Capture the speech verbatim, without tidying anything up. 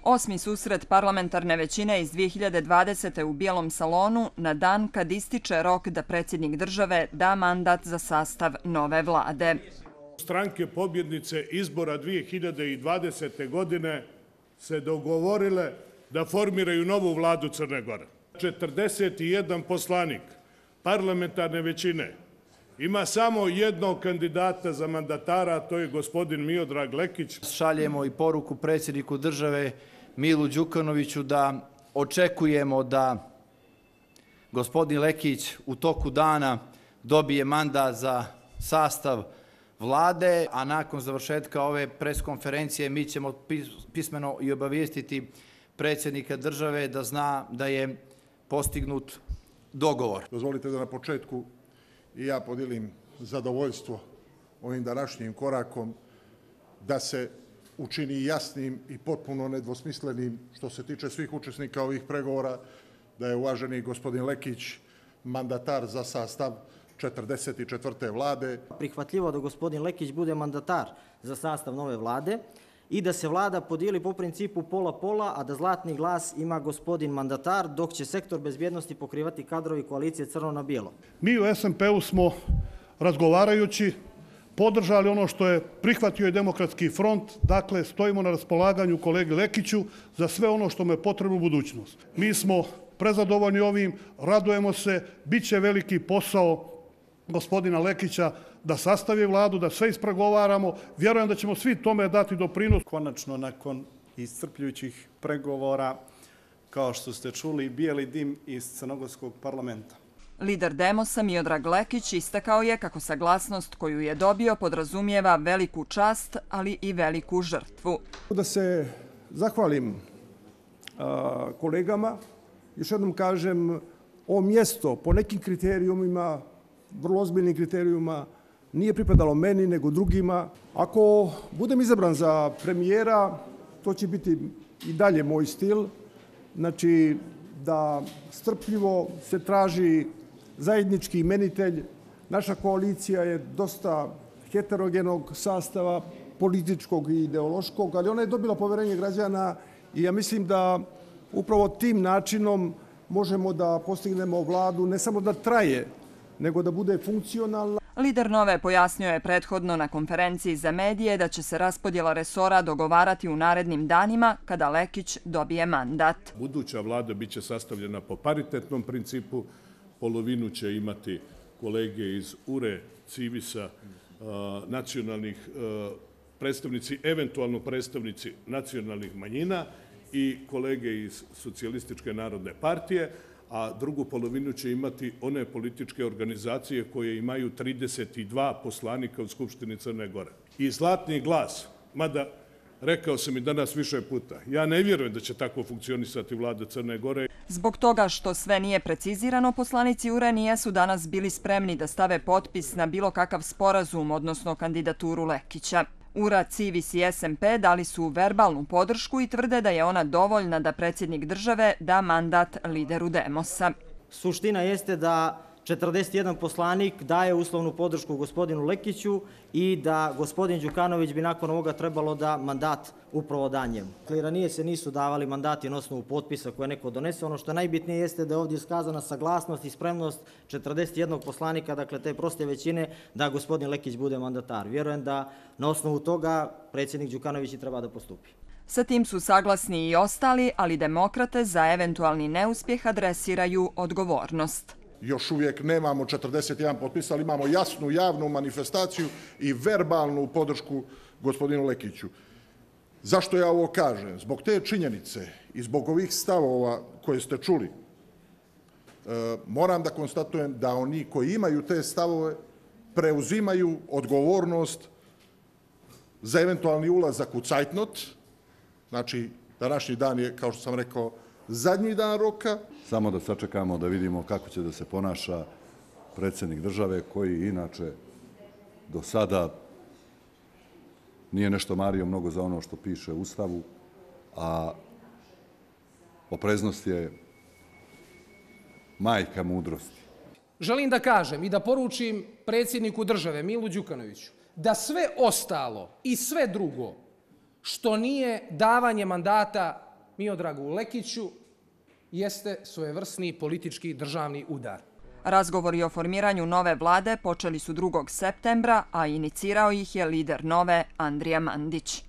Osmi susret parlamentarne većine iz dvije hiljade dvadesete. u Bijelom salonu na dan kad ističe rok da predsjednik države da mandat za sastav nove vlade. Stranke pobjednice izbora dvije hiljade dvadesete. godine se dogovorile da formiraju novu vladu Crne Gore. četrdeset jedan poslanik parlamentarne većine ima samo jednog kandidata za mandatara, a to je gospodin Miodrag Lekić. Šaljemo i poruku predsjedniku države Milu Đukanoviću da očekujemo da gospodin Lekić u toku dana dobije mandat za sastav vlade, a nakon završetka ove preskonferencije mi ćemo pismeno i obavijestiti predsjednika države da zna da je postignut dogovor. Dozvolite da na početku i ja podijelim zadovoljstvo ovim današnjim korakom da se učini jasnim i potpuno nedvosmislenim što se tiče svih učesnika ovih pregovora, da je uvaženi gospodin Lekić mandatar za sastav četrdeset četvrte vlade. Prihvatljivo da gospodin Lekić bude mandatar za sastav nove vlade i da se vlada podijeli po principu pola-pola, a da zlatni glas ima gospodin mandatar, dok će sektor bezbjednosti pokrivati kadrovi koalicije Crno na bijelo. Mi u S N P-u smo razgovarajući podržali ono što je prihvatio i Demokratski front, dakle stojimo na raspolaganju kolegi Lekiću za sve ono što mu je potrebno u budućnost. Mi smo prezadovoljni ovim, radujemo se, bit će veliki posao gospodina Lekića da sastavi vladu, da sve ispregovaramo. Vjerujem da ćemo svi tome dati doprinos. Konačno, nakon iscrpljujućih pregovora, kao što ste čuli, bijeli dim iz crnogorskog parlamenta. Lider Demosa Miodrag Lekić istakao je kako saglasnost koju je dobio podrazumijeva veliku čast, ali i veliku žrtvu. Da se zahvalim a, kolegama, još jednom kažem, ovo mjesto po nekim kriterijumima, vrlo ozbiljnim kriterijuma, nije pripadalo meni nego drugima. Ako budem izabran za premijera, to će biti i dalje moj stil. Znači da strpljivo se traži zajednički imenitelj. Naša koalicija je dosta heterogenog sastava, političkog i ideološkog, ali ona je dobila poverenje građana i ja mislim da upravo tim načinom možemo da postignemo vladu ne samo da traje, nego da bude funkcionalna. Lider Nove pojasnio je prethodno na konferenciji za medije da će se raspodjela resora dogovarati u narednim danima kada Lekić dobije mandat. Buduća vlada bit će sastavljena po paritetnom principu, polovinu će imati kolege iz U R E, Civisa, nacionalnih predstavnici, eventualno predstavnici nacionalnih manjina i kolege iz Socijalističke narodne partije, a drugu polovinu će imati one političke organizacije koje imaju trideset dva poslanika u Skupštini Crne Gore. I zlatni glas, mada rekao sam i danas više puta, ja ne vjerujem da će tako funkcionisati vlada Crne Gore. Zbog toga što sve nije precizirano, poslanici U R E nijesu danas bili spremni da stave potpis na bilo kakav sporazum, odnosno kandidaturu Lekića. U R A, Civis i S N P dali su verbalnu podršku i tvrde da je ona dovoljna da predsjednik države da mandat lideru Demosa. Suština jeste da četrdeset jedan poslanik daje uslovnu podršku gospodinu Lekiću i da gospodin Đukanović bi nakon ovoga trebalo da mandat upravo da njemu. Ranije se nisu davali mandati na osnovu potpisa koje neko donese. Ono što najbitnije jeste da je ovdje iskazana saglasnost i spremnost četrdeset jednog poslanika, dakle te proste većine, da gospodin Lekić bude mandatar. Vjerujem da na osnovu toga predsjednik Đukanović i treba da postupi. Sa tim su saglasni i ostali, ali demokrate za eventualni neuspjeh adresiraju odgovornost. Još uvijek nemamo četrdeset jedan potpisa, ali imamo jasnu javnu manifestaciju i verbalnu podršku gospodinu Lekiću. Zašto ja ovo kažem? Zbog te činjenice i zbog ovih stavova koje ste čuli, moram da konstatujem da oni koji imaju te stavove preuzimaju odgovornost za eventualni ulazak u cajtnot. Znači, današnji dan je, kao što sam rekao, zadnji dan roka. Samo da sačekamo da vidimo kako će da se ponaša predsjednik države, koji inače do sada nije nešto mario mnogo za ono što piše u Ustavu, a opreznost je majka mudrosti. Želim da kažem i da poručim predsjedniku države Milu Đukanoviću da sve ostalo i sve drugo što nije davanje mandata Miodragu Lekiću jeste svojevrsni politički državni udar. Razgovori o formiranju nove vlade počeli su drugog septembra, a inicirao ih je lider nove Andrija Mandić.